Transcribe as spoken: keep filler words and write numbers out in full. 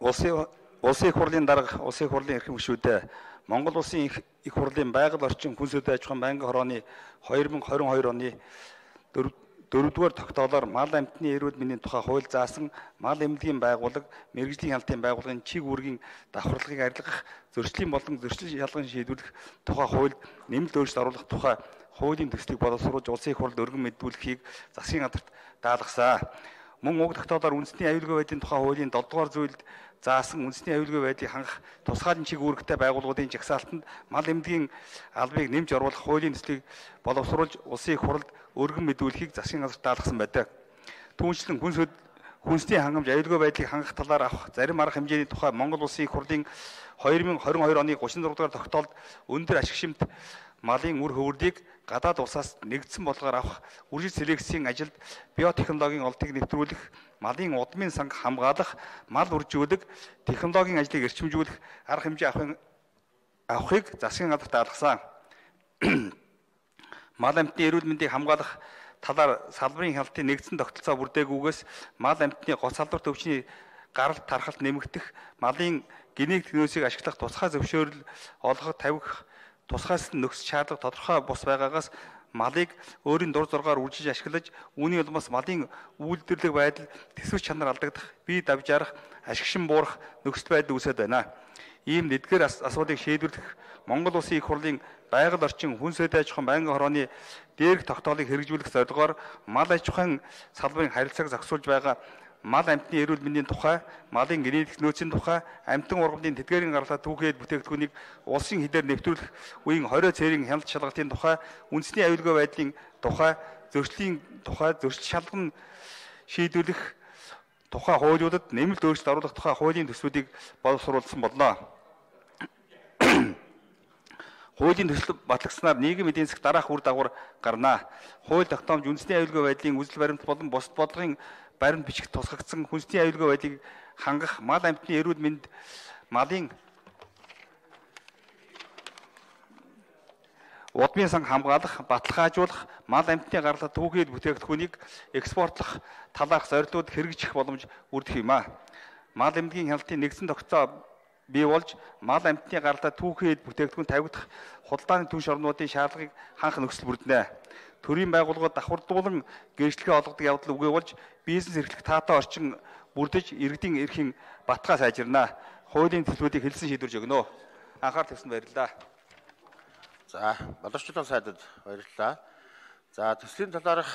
Улсын улсын их хурлын дарга улсын их хурлын эрхэм гишүүдээ Монгол улсын их их хурлын байгаль орчин хүн сүдэ аж ахуйн байнгын хорооны две тысячи двадцать two оны дөрөвдүгээр тогтоолоор мал амьтны эрүүл мэндийн тухай хууль заасан мал эмнэлгийн байгууллага, мэрэгжлийн хяналтын байгууллагын чиг үүргийн давхарлагыг арилгах, зөрчлийн болон зөрчил шалган шийдвэрлэх тухай хууль нэмэлт өөрчлөлт оруулах тухай хуулийн төслийг боловсруулж улсын их хурлд өргөн мэдүүлэхийг засгийн газарт даалгасан. Мөн уг тогтоолоор үндэсний аюулгүй байдлын тухай хуулийн долоо дугаар зүйлд заасан үндэсний аюулгүй байдлыг хангах тусгай чиг үүрэгтэй байгууллагуудын жагсаалтанд мал эмнэлгийн албыг нэмж оруулах хуулийн төслийг боловсруулж улсын их хурлд өргөн мэдүүлэхийг засгийн газарт даалгасан байдаг. Түүнчлэн хүнс хүнсний хангамж аюулгүй байдлыг хангах талаар авах зарим арга хэмжээний тухай Монгол улсын их хурлын две тысячи двадцать two оны thirty-six дугаар тогтоолд өндөр ашиг шимт малын үр хөврөлийг гадаад улсаас нэгдсэн болгоор авах үржил селекцийн ажилд биотехнологийн олдыг нэвтрүүлэх, малын удмын санг хамгаалах, мал үржүүлэх, технологийн ажлыг эрчимжүүлэх арга хэмжээ авахын авахыг засгийн газарт даалгасан. Мал амьтны эрүүл мэндийг хамгаалах талаар салбарын хяналтын нэгдсэн тогтолцоо бүрдээгүйгээс мал амьтны гоц салбарт өвчний гаралт тархалт нэмэгдэх, малын генетик нөөцийг ашиглах тусгай зөвшөөрөл олгох, тавих тусгайс нөхцөл шаардлага тодорхой бус байгаагаас малыг өөрийн дур зоргоор үржиж ашиглаж, үүний улмаас малын үйлдвэрлэх байдал, тэсвэр чанар алдагдах, бие давж арах, ашигшин буурах нөхцөл байдал үүсэж байна. Ийм эдгээр асуудлыг шийдвэрлэх Монгол улсын их хурлын байгаль орчин хүн сүдэ аж ахуйн байнгын хорооны дээрх тогтоолыг хэрэгжүүлэх зорилгоор мал аж ахуйн салбарын харилцааг зохицуулж байгаа мал амьтны эрүүл мэндийн тухай, малын генетик нөөцийн тухай, амьтан ургамлын тэдгээрийн гаргалтай түүхийд бүтээгдэхүүнийг улсын хилээр нэвтрүүлэх үеийн хорио цэрийн хяналт шалгалтын тухай, үндэсний аюулгүй байдлын тухай, зөрчлийн тухай, зөрчил шалган шийдвэрлэх тухай хуулиудад нэмэлт өөрчлөлт оруулах тухай хуулийн төслүүдийг боловсруулсан болно. Хуулийн төсөл батлагдсанаар нийгэм эдийн засаг дараах үр дагавар гарна. Хууль тогтоомж үндэсний аюулгүй байдлын үзэл баримт болон бусад бодлогын баримт бичих тусгагдсан хүнсний аюулгүй байдлыг хангах, мал амьтны эрүүл мэнд, малын удмын санг хамгаалах, баталгаажуулах, мал амьтны гаргалтай түүхийд бүтээгдэхүүнийг экспортлох талаарх зорилгууд хэрэгжих боломж бүрдэх юм а. Мал эмнэлгийн хяналтын нэгдсэн тогтолцоо бий болж мал амьтны гаралтай түүхийд бүтээгдэхүүн тавигдах худалдааны түнш орнуудын шаардлагыг хангах нөхцөл бүрдэнэ. Төрийн байгууллагууд давхардуулан гэрчлэгээ олгодог явдал үгүй болж бизнес эрхлэх таатай орчин бүрдэж иргэдийн эрхийн баталгаа сайжирна. Хуулийн төслүүдийг хэлсэн шийдвэрж өгнө. Анхаарал тавьсанд баярлалаа. За, боловсчлон сайдад баярлалаа. За, төслийн талаарх